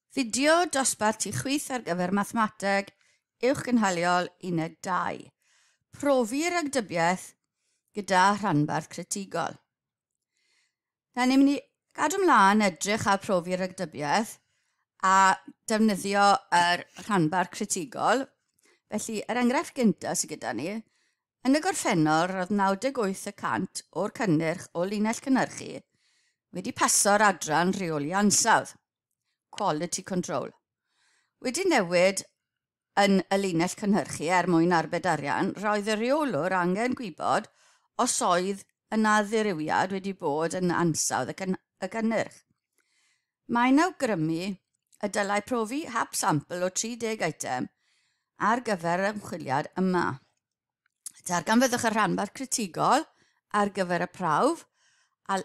Fideo dosbarth i chwith ar gyfer Mathemateg Uwchgynhaliol Uned 2. Profi ragdybiaeth gyda rhanbarth critigol. Da ni'n mynd i gadw ymlaen edrych ar profi ragdybiaeth a defnyddio yr rhanbarth critigol. Felly, yr enghraifft gyntaf sydd gyda ni, yn y gorffennol roedd 98 y cant o'r cynnyrch o linell cynhyrchu wedi paso'r adran rheoli ansawdd. Quality Control. Wedi newid yn y linell cynhyrchu er mwyn arbed arian, roedd y rheolwr angen gwybod os oedd yna ddirywiad wedi bod yn ansawdd y, y cynnyrch. Mae'n awgrymu y dylai profi hap sampl o 30 eitem ar gyfer yr ymchwiliad yma. Darganfyddwch y rhanbarth critigol ar gyfer y prawf a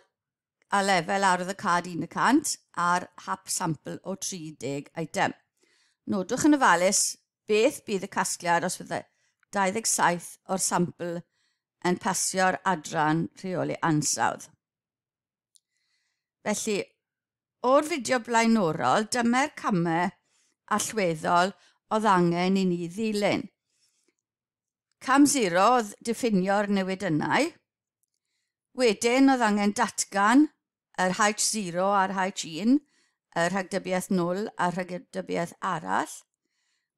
a lefel arwyddocâd 1% a'r hap sampl o 30 eitem. Nodwch yn ofalus beth bydd y casgliad os fydde 27 o'r sampl yn pasio'r adran rheoli ansawdd. Felly, o'r fideo blaenorol, dyma'r camau allweddol oedd angen i ni ddilyn. Cam 0 oedd diffinio'r newidynnau. Wedyn oedd angen datgan yr H0 a'r H1, y rhagdybiaeth 0 a'r rhagdybiaeth arall.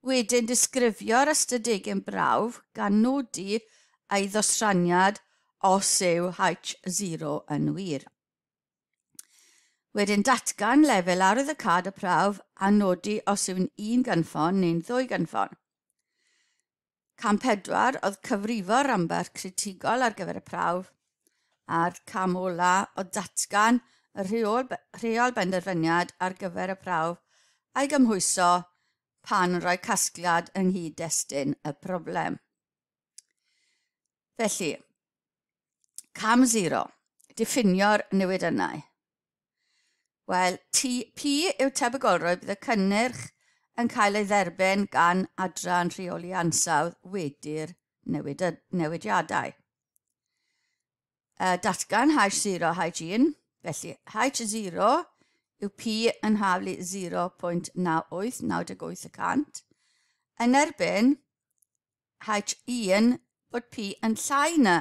Wedyn disgrifio'r ystadegyn brawf gan nodi ei ddosraniad os yw H0 yn wir. Wedyn datgan lefel arwyddocâd y prawf a nodi os yw'n un gynffon neu'n ddwy gynffon. Cam 4 oedd cyfrifo'r rhanbarth critigol ar gyfer y prawf, a'r cam ola oedd datgan y rheol, rheol benderfyniad ar gyfer y prawf a'i gymhwyso pan yn rhoi casgliad yng nghyd-destun y broblem. Felly, cam 0, diffinio'r newidynnau. Wel, T, P yw tebygolrwydd bydd y cynnyrch yn cael ei dderbyn gan adran rheoli ansawdd wedi'r newid, newidiadau. Datgan H0 H1, felly H0 yw P yn haflu 0.98, 98 y cant. Yn erbyn H1 bod P yn llai na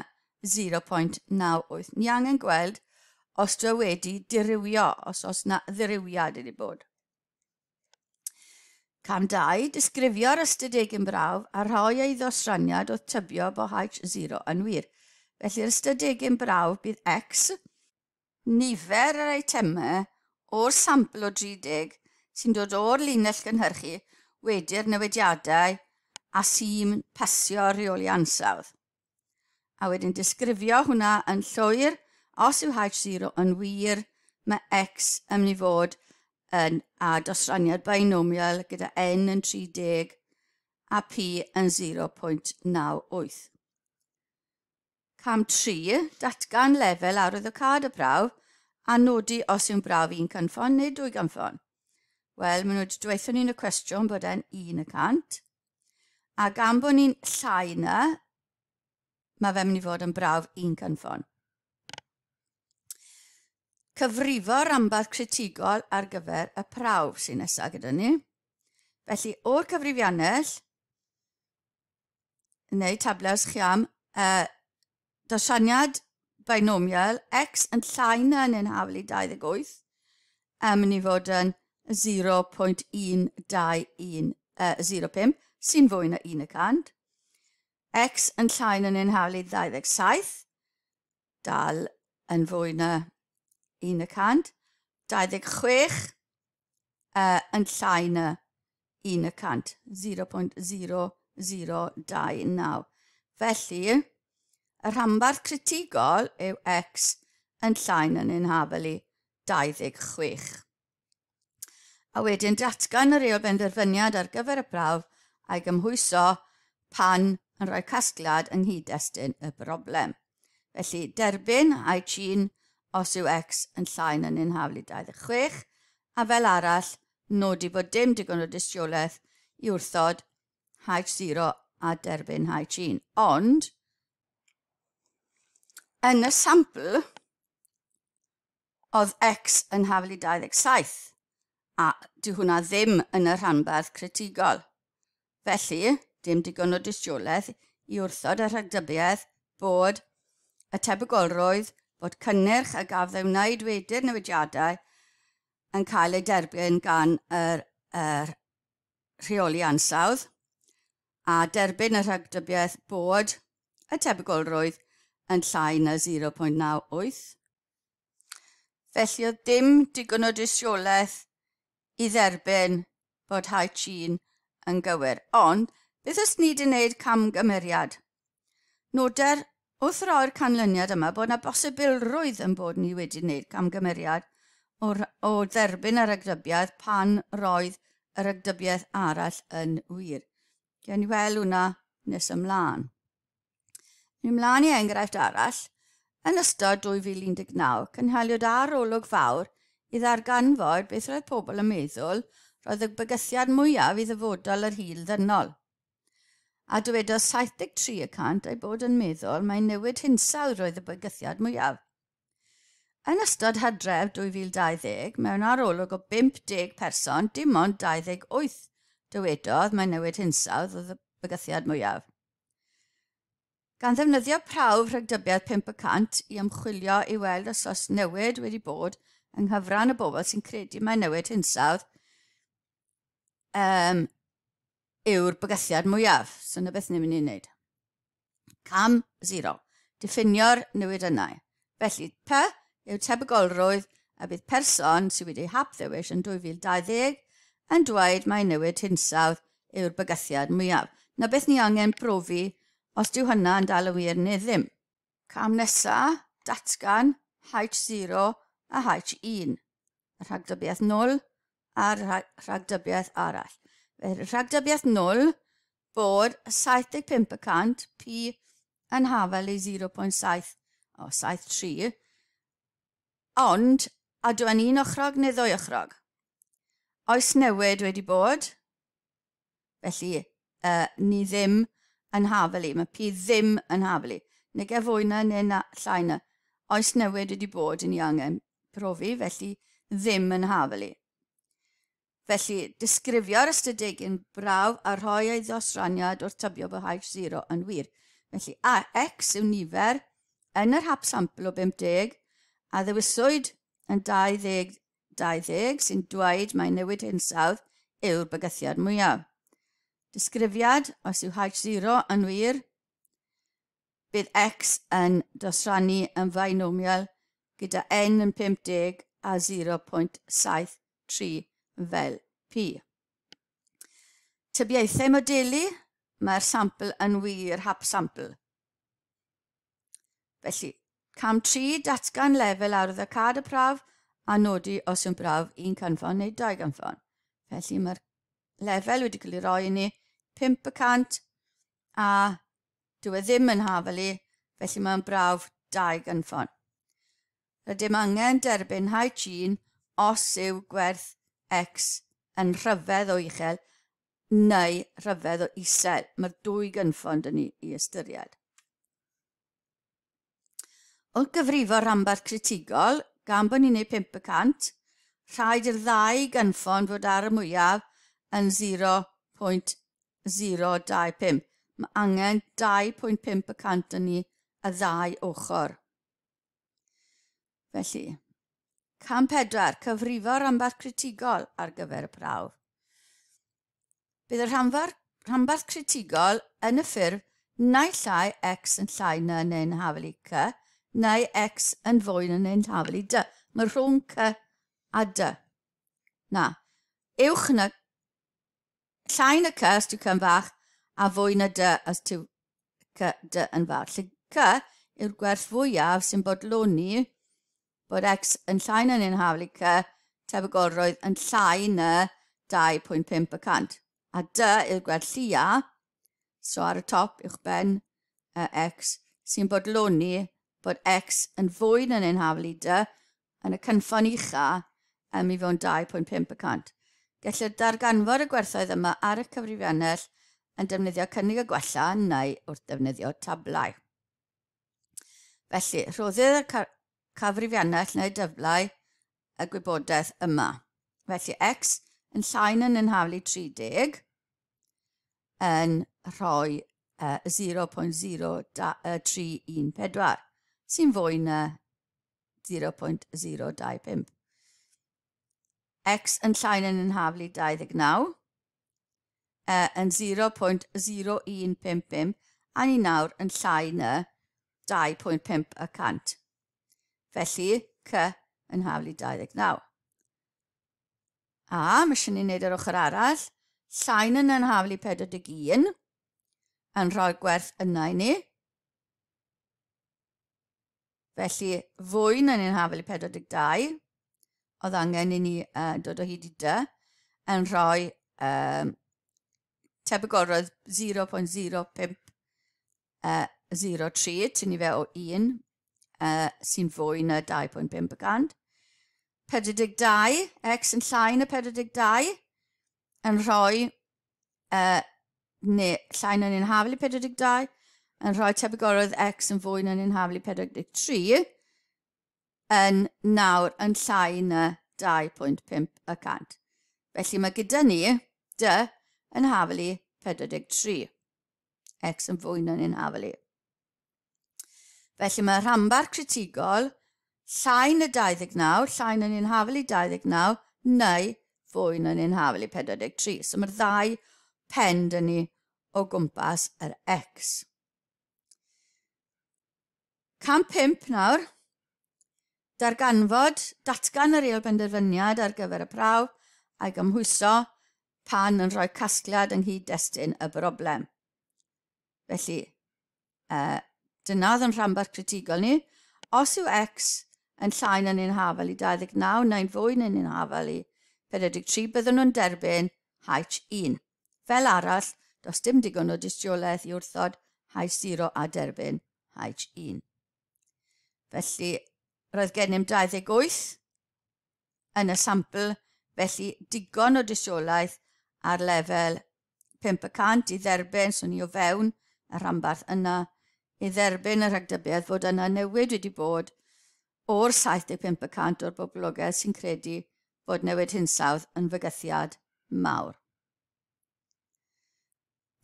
0.98. Ni angen gweld os dwi wedi dirywio, os oes na ddirywiad wedi bod. Cam 2, disgrifio'r ystadegyn brawf a rhoi ei ddosraniad wrth tybio bod H0 yn wir. Felly'r ystadegyn brawf bydd X, nifer yr eitemau o'r sampl o 30 sy'n dod o'r linell gynhyrchu wedi'r newidiadau a sy'n pasio rheoli ansawdd. A wedyn disgrifio hwnna yn llwyr, os yw H0 yn wir, mae X yn mynd i fod yn a dosraniad binomial gyda N yn 30 a P yn 0.98. Cam 3, datgan lefel arwyddocâd y prawf a nodi os yw'n brawf un cynffon neu dwy gynffon. Wel, maen nhw wedi dweud ni'n y cwestiwn bod e'n 1%. A gan bod ni'n llai na, mae fe'n mynd i fod yn brawf un cynffon. Cyfrifo rhanbarth critigol ar gyfer y prawf sy'n nesaf gyda ni. Felly, o'r cyfrifiannell, neu tablau os chi am, dosraniad binomial x yn llai na neu'n haflu 28, yn mynd i fod yn 0.121, 05, sy'n fwy na 1%. X yn llai na neu'n haflu 27, dal yn fwy na 1%. 26 yn llai na 1%, 0.0029. Felly, y rhanbarth critigol yw x yn llai na neu'n hafal i 26. A wedyn datgan y reol benderfyniad ar gyfer y prawf a'i gymhwyso pan yn rhoi casgliad yng nghyd-destun y broblem. Felly, derbyn H1 os yw x yn llai na neu'n hafal i 26, a fel arall, nodi bod dim digon o dystiolaeth i wrthod H0 a derbyn H1. Ond, yn y sampl, oedd x yn hafal i 27. A dyw hwnna ddim yn y rhanbarth critigol. Felly, dim digon o dystiolaeth i wrthod y rhagdybiaeth bod y tebygolrwydd bod cynnyrch a gafodd ei wneud wedi'r newidiadau yn cael ei derbyn gan yr, yr rheoli ansawdd a derbyn y rhagdybiaeth bod y tebygolrwydd yn llai na 0.98. Felly oedd dim digon o dystiolaeth i dderbyn bod H1 yn gywir. Ond, beth os ni wedi wneud camgymeriad? Noder wrth roi'r canlyniad yma bod yna bosibilrwydd yn bod ni wedi wneud camgymeriad o, o dderbyn y ragdybiaeth pan roedd y ragdybiaeth arall yn wir. Gewn ni weld hwnna nes ymlaen. Ni ymlaen i enghraifft arall. Yn ystod 2019, cynhaliwyd arolwg fawr i ddarganfod beth roedd pobl yn meddwl roedd y bygythiad mwyaf i ddyfodol yr hil ddynol. A dywedodd 73 y cant ei bod yn meddwl mai newid hinsawdd roedd y bygythiad mwyaf. Yn ystod hydref 2020, mewn arolwg o 50 person, dim ond 28 dywedodd mai newid hinsawdd oedd y bygythiad mwyaf. Gan ddefnyddio prawf rhagdybiaeth 5% i ymchwilio i weld os oes newid wedi bod yng nghyfran y bobl sy'n credu mai newid hinsawdd um, yw'r bygythiad mwyaf. So yna beth ni'n mynd i wneud. Cam 0. Diffinio'r newid yna. Felly, P yw tebygolrwydd a bydd person sydd wedi hap ddewis yn 2020 yn dweud mai newid hinsawdd yw'r bygythiad mwyaf. Na beth ni angen profi os dyw hynna yn dal yn wir neu ddim. Cam nesa, datgan H0 a H1. Y rhagdybiaeth 0 a'r rhagdybiaeth arall. Felly, rhagdybiaeth 0 bod 75% P yn hafel i 0.7 o 73, ond a dw yn un ochrog neu ddwy ochrog? Oes newid wedi bod? Felly, ni ddim yn hafel i. Mae P ddim yn hafel i. Neu ge fwy na neu na, llai na. Oes newid wedi bod yn ni angen profi, felly ddim yn hafel i. Felly, disgrifio'r ystadegyn brawf a rhoi ei ddosraniad wrth tybio bod H0 yn wir. Felly, a X yw nifer yn yr hap sampl o 50 a ddewiswyd yn 20 20 sy'n dweud mai newid hinsawdd yw'r bygythiad mwyaf. Disgrifiad, os yw H0 yn wir, bydd X yn dosrannu yn binomial gyda N yn 50 a 0.73 fel P. Tybiaethau modelu, mae'r sampl yn wir hap sampl. Felly, cam 3, datgan lefel arwyddocâd y prawf a nodi os yw'n brawf un cynffon neu dau gynffon. Felly mae'r lefel wedi cael ei roi i ni 5% a dyw e ddim yn hafel i, felly mae'n brawf dau gynffon. Rydym angen derbyn H1 os yw gwerth X yn rhyfedd o uchel neu rhyfedd o isel. Mae'r dwy gynffon dyn ni i ystyried. Wrth gyfrifo rhanbarth critigol, gan bod ni'n neud 5%, rhaid i'r ddau gynffon fod ar y mwyaf yn 0.025. Mae angen 2.5% yn ni y ddau ochr. Felly, cam 4, cyfrifo rhanbarth critigol ar gyfer y prawf. Bydd y rhanbarth critigol yn y ffurf naill ai x yn llai na neu'n hafel i c, neu x yn fwy na neu'n hafel i d. Mae rhwng c a d. Na, uwch na, llai na c os dyw c yn fach, a fwy na d os dyw c d yn fawr. Lle c yw'r gwerth fwyaf sy'n bodloni bod x yn llai na neu'n hafel i c, tebygolrwydd yn llai na 2.5%. A d yw'r gwerth llia, so ar y top uwch ben x, sy'n bodloni bod x yn fwy na neu'n hafel i d yn y cynffon ucha i fewn 2.5%. Gellir darganfod y gwerthoedd yma ar y cyfrifiannell yn defnyddio cynnig y gwella neu wrth defnyddio tablau. Felly, rhoddir y cyfrifiannell neu dablau y gwybodaeth yma. Felly x yn llai na neu'n haflu 30 yn rhoi 0.0314, sy'n fwy na 0.025. X yn llai na neu'n haflu 29 yn 0.0155 a ni nawr yn llai na 2.5 y cant. Felly, C yn haflu 29. A, mae eisiau ni wneud yr ochr arall. Llai na yn haflu 41 yn rhoi gwerth yna i ni. Felly, fwy na ni'n haflu 42, oedd angen i ni dod o hyd i dy, yn rhoi tebygolrwydd 0.05 03, tynnu fe o 1, sy'n fwy na 2.5%. 42, x yn llai na 42, yn rhoi, neu llai na ni'n haflu 42, yn rhoi tebygolrwydd x yn fwy na ni'n haflu 43, yn nawr yn llai na 2.5%. Felly mae gyda ni d yn haflu 43. X yn fwy na ni'n haflu. Felly mae rhanbarth critigol llai na 29, llai na ni'n haflu 29, neu fwy na ni'n haflu 43. So mae'r ddau pen dyn ni o gwmpas yr X. Cam 5 nawr. Darganfod, datgan yr ail benderfyniad ar gyfer y prawf a'i gymhwyso pan yn rhoi casgliad yng nghyd-destun y broblem. Felly, dyna oedd yn rhanbarth critigol ni. Os yw X yn llai na ni'n hafal i 29 neu'n fwy na ni'n hafal i 43, byddwn nhw'n derbyn H1. Fel arall, does dim digon o dystiolaeth i wrthod H0 a derbyn H1. Felly, roedd gennym 28 yn y sampl, felly digon o dystiolaeth ar lefel 5% i dderbyn, so ni o fewn y rhanbarth yna, i dderbyn y rhagdybiaeth fod yna newid wedi bod o'r 75% o'r boblogaeth sy'n credu bod newid hinsawdd yn fygythiad mawr.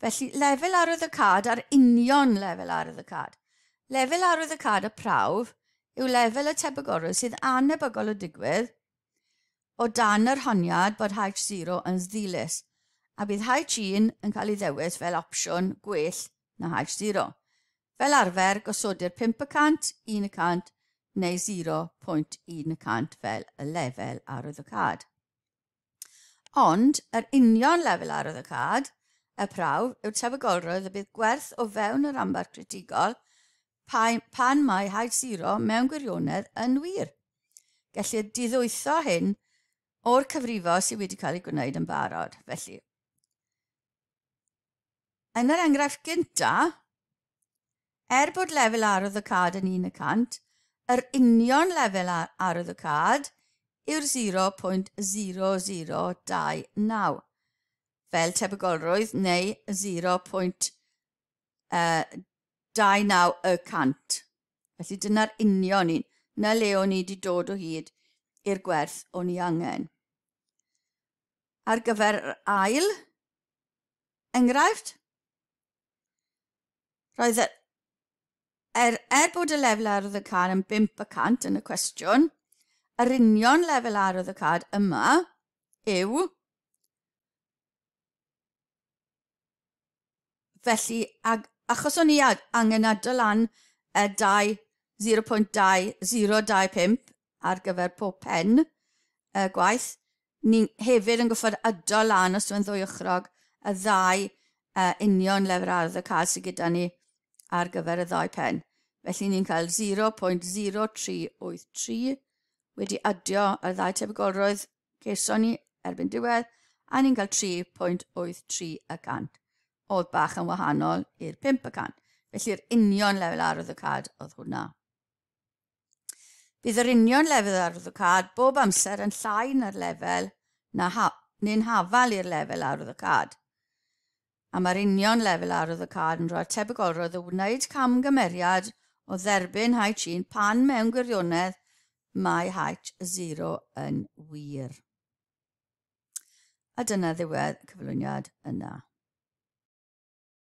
Felly, lefel arwyddocâd a'r union lefel arwyddocâd. Lefel arwyddocâd y prawf yw lefel y tebygolrwydd sydd anebygol o digwydd o dan yr honiad bod H0 yn ddilys, a bydd H1 yn cael ei ddewis fel opsiwn gwell na H0. Fel arfer, gosodir 5%, 1% neu 0.1% fel y lefel arwyddocâd. Ond, yr union lefel arwyddocâd, y prawf, yw'r tebygolrwydd y bydd gwerth o fewn yr rhanbarth critigol pan mae H0 mewn gwirionedd yn wir. Gellir diddwytho hyn o'r cyfrifo sydd wedi cael ei gwneud yn barod. Felly, yn yr enghraifft gynta, bod lefel arwyddocâd yn 1%, yr union lefel arwyddocâd yw'r 0.0029, fel tebygolrwydd neu 0.29%. Felly dyna'r union un. Na le o'n i wedi dod o hyd i'r gwerth o'n i angen. Ar gyfer yr ail enghraifft, roedd er bod y lefel arwyddocâd yn 5% yn y cwestiwn, yr union lefel arwyddocâd yma yw, felly, achos o'n i angen adal lan y 0.2025 ar gyfer pob pen y gwaith, ni hefyd yn goffod adal lan os yw'n ddwy ochrog y ddau union lefel arwyddocâd sydd gyda ni ar gyfer y ddau pen. Felly ni'n cael 0.0383 wedi adio ar ddau tebygolrwydd ceison ni erbyn diwedd, a ni'n cael 3.83%. Oedd bach yn wahanol i'r 5%. Felly'r union lefel arwyddocâd oedd hwnna. Bydd yr union lefel arwyddocâd bob amser yn llai na'r lefel neu'n hafal i'r lefel arwyddocâd. A mae'r union lefel arwyddocâd yn rhoi'r tebygolrwydd o wneud camgymeriad o dderbyn H1 pan mewn gwirionedd mae H0 yn wir. A dyna ddiwedd cyflwyniad yna.